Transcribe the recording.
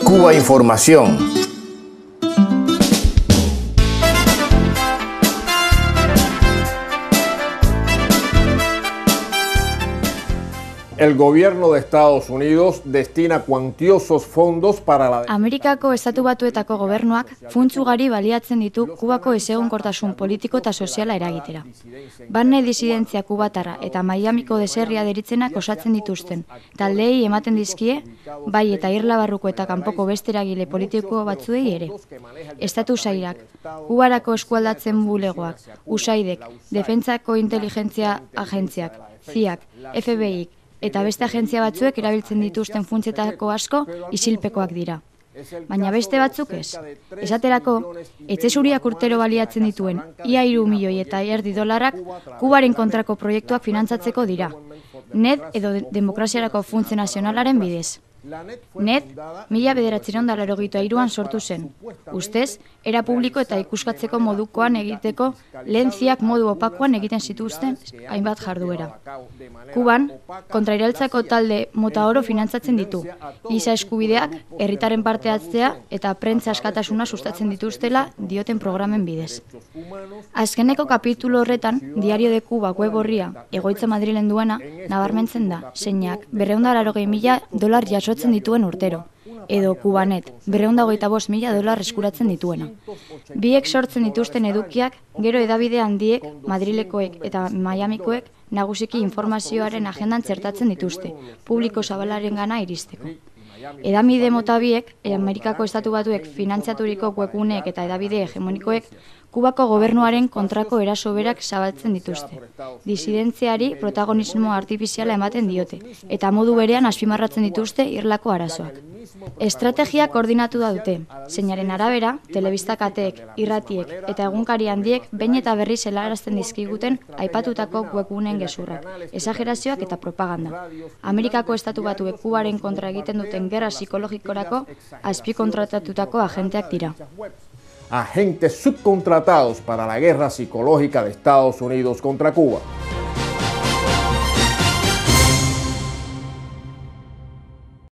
Cuba Información. El gobierno de Estados Unidos destina cuantiosos fondos para la... Amerikako Estatu Batuetako gobernuak funts ugari baliatzen ditu Kubako ezegonkortasun politiko eta soziala eragitera. Barne disidentzia kubatarra eta Miamiko deserria deritzenak osatzen dituzten taldeei ematen dizkie, bai eta irla barruko eta kanpoko beste eragile politiko batzuei ere. Estatu sailak, Kubarako eskualdatzen bulegoak, USAIDek, Defentsako Inteligentzia Agentziak, CIA, FBI eta beste agentzia batzuek erabiltzen dituzten funtsetako asko isilpekoak dira. Baina beste batzuk ez. Esaterako, etxe zuriak urtero baliatzen dituen ia 3,5 milioi Kubaren kontrako proiektuak finantzatzeko dira. NED edo Demokraziarako Funtse Nazionalaren bidez. NED 1993an sortu zen. Ustez, era publiko eta ikuskatzeko modukoan egiteko lehen ziak modu opakoan egiten zituzten hainbat jarduera. Kuban, kontrairaltzako talde mota oro finantzatzen ditu. Giza eskubideak, herritaren parte hartzea eta prentsa askatasuna sustatzen dituztela dioten programen bidez. Azkeneko kapitulu horretan, Diario de Cuba web orria, egoitza Madrilen duena, nabarmentzen da, zeinak $480,000 jasotzen dituen urtero, edo Kubanet, $425,000 eskuratzen dituena. Biek sortzen dituzten edukiak, gero hedabide handiek, Madrilekoek eta Miamikoek, nagusiki informazioaren agendan txertatzen dituzte, publiko zabalarengana iristeko. Hedabide mota biek, Amerikako Estatu Batuek finantziaturiko webguneek eta hedabide hegemonikoek, Kubako gobernuaren kontrako eraso berak zabaltzen dituzte. Disidentziari protagonismo artifiziala ematen diote, eta modu berean azpimarratzen dituzte irlako arazoak. Estrategia koordinatu da dute, zeinaren arabera, telebistakateek, irratiek eta egunkari handiek behin eta berriz helarazten dizkiguten aipatutako webguneen gezurrak, esagerazioak eta propaganda. Amerikako Estatu Batuek Kubaren kontra egiten duten gerra psikologikorako azpikontratatutako agenteak dira. Agentes subcontratados para la guerra psicológica de Estados Unidos contra Cuba.